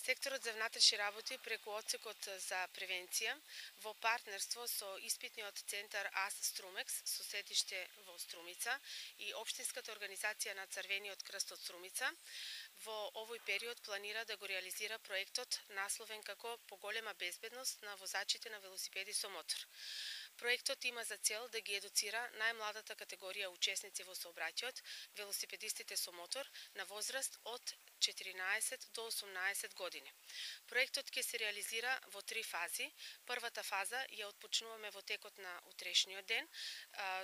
Секторот за внатрешни работи преку одсекот за превенција во партнерство со испитниот центар АС Струмекс со седиште во Струмица и Општинската организација на Црвениот крст од Струмица во овој период планира да го реализира проектот насловен како Поголема безбедност на возачите на велосипеди со мотор. Проектот има за цел да ги едуцира најмладата категорија учесници во сообраќајот, велосипедистите со мотор, на возраст од 14 до 18 години. Проектот ќе се реализира во 3 фази. Првата фаза ја отпочнуваме во текот на утрешниот ден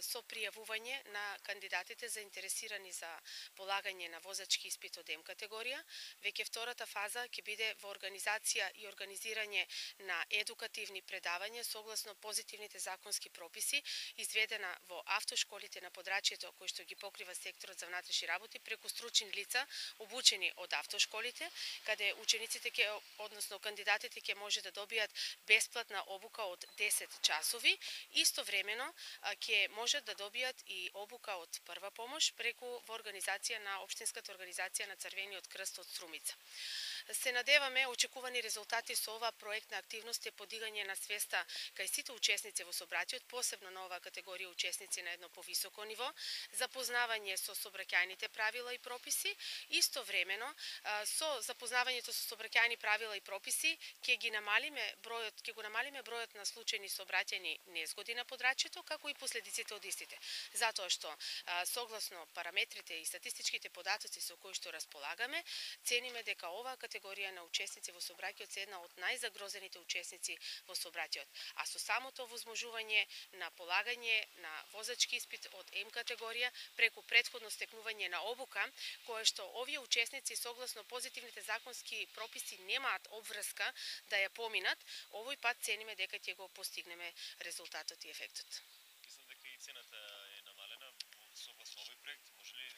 со пријавување на кандидатите заинтересирани за полагање на возачки испит од М категорија. Веќе втората фаза ќе биде во организација и организирање на едукативни предавања согласно позитивните законски прописи, изведена во автошколите на подрачјето кои што ги покрива секторот за внатрешни работи преку стручни лица обучени од автошколите, каде учениците односно кандидатите ќе може да добијат бесплатна обука од 10 часови, истовремено ќе можат да добијат и обука од прва помош преку во организација на Општинската организација на Црвениот крст од Струмица. Се надеваме очекувани резултати со ова проектна активност е подигање на свеста кај сите учесници во сообраќајот, посебно на оваа категорија учесници на едно повисоко ниво, запознавање со сообраќајните правила и прописи, истовремено со запознавањето со сообраќајни правила и прописи ќе го намалиме бројот на случајни сообраќајни незгоди на подрачјето, како и последиците од истите. Затоа што согласно параметрите и статистичките податоци со кои што располагаме, цениме дека оваа категорија на учесници во сообраќајот се една од најзагрозените учесници во сообраќајот, а со самото возможување на полагање на возачки испит од М категорија преку претходно стекнување на обука, кое што овие учесници согласно позитивните законски прописи немаат обврска да ја поминат, овој пат цениме дека ќе го постигнеме резултатот и ефектот. Мислам дека и цената е намалена согласно овој проект, може ли?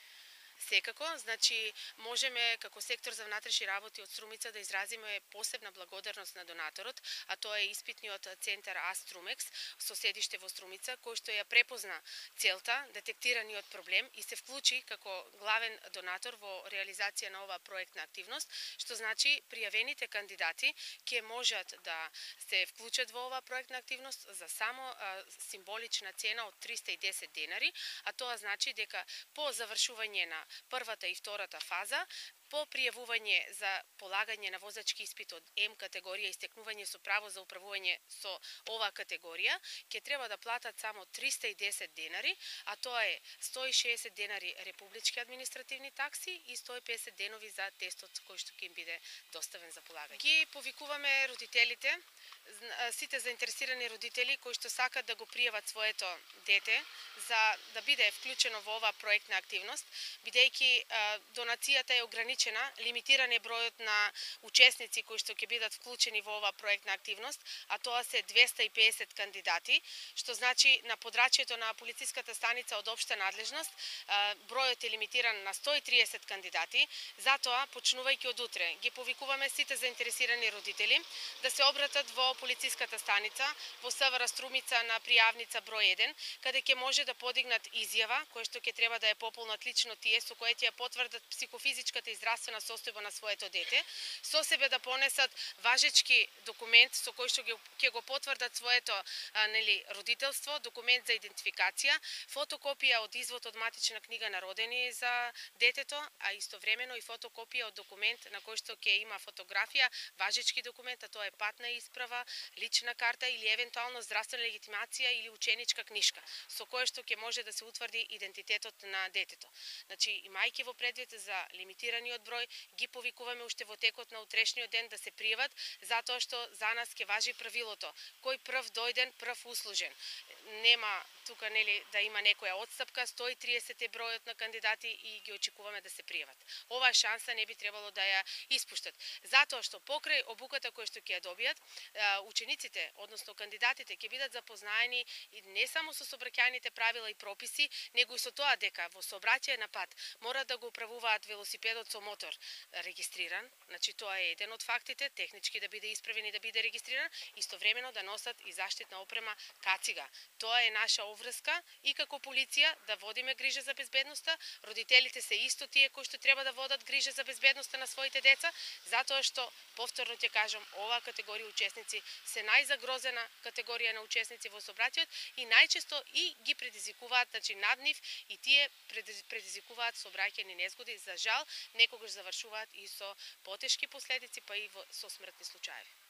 Секако, значи можеме како сектор за внатрешни работи од Струмица да изразиме посебна благодарност на донаторот, а тоа е испитниот центар АС Струмекс со седиште во Струмица, кој што ја препозна целта, детектираниот проблем и се вклучи како главен донатор во реализација на оваа проектна активност, што значи пријавените кандидати ќе можат да се вклучат во оваа проектна активност за само символична цена од 310 денари, а тоа значи дека по завршување на првата и втората фаза, по пријавување за полагање на возачки испит од М категорија и стекнување со право за управување со оваа категорија, ќе треба да платат само 310 денари, а тоа е 160 денари републички административни такси и 150 денови за тестот кој што ќе им биде доставен за полагање. Ги повикуваме родителите, сите заинтересирани родители кои што сакат да го пријават своето дете за да биде вклучено во оваа проектна активност, бидејќи донацијата е ограничена, лимитиран е бројот на учесници кои што ќе бидат вклучени во оваа проектна активност, а тоа се 250 кандидати, што значи на подрачјето на полициската станица од општа надлежност, бројот е лимитиран на 130 кандидати, затоа почнувајќи од утре ги повикуваме сите заинтересирани родители да се обратат во полициската станица во СВР Струмица на пријавница број 1, каде ќе може да подигнат изјава која што ќе треба да ја пополнат лично тие со која ќе ја потврдат психофизичката и здравствена состојба на своето дете, со себе да понесат важечки документ со кој што ќе го потврдат своето родителство, документ за идентификација, фотокопија од извод од матична книга на родени за детето, а истовремено и фотокопија од документ на кој што ќе има фотографија, важечки документ, а тоа е патна исправа, лична карта или евентуално здравствена легитимација или ученичка книшка, со која што ќе може да се утврди идентитетот на детето. Значи, имајќи во предвид за лимитираниот број, ги повикуваме уште во текот на утрешниот ден да се пријават, затоа што за нас ќе важи правилото: кој прв дојден, прв услужен. Нема тука да има некоја отстапка, 130 е бројот на кандидати и ги очекуваме да се пријават. Оваа шанса не би требало да ја испуштат, затоа што покрај обуката која што ќе ја добијат, учениците, односно кандидатите ќе бидат запознаени и не само со сообраќајните правила и прописи, него и со тоа дека во сообраќај на пат мора да го управуваат велосипедот со мотор регистриран, значи тоа е еден од фактите, технички да биде исправен и да биде регистриран, истовремено да носат и заштитна опрема кацига. Тоа е наша обврска и како полиција да водиме грижа за безбедноста. Родителите се исто тие кои што треба да водат грижа за безбедноста на своите деца, затоа што повторно ќе кажам, оваа категорија учесници се најзагрозена категорија на учесници во сообраќајот и најчесто и ги предизвикуваат, значи над нив и тие предизвикуваат сообраќајни незгоди, за жал некогаш завршуваат и со потешки последици, па и со смртни случаи.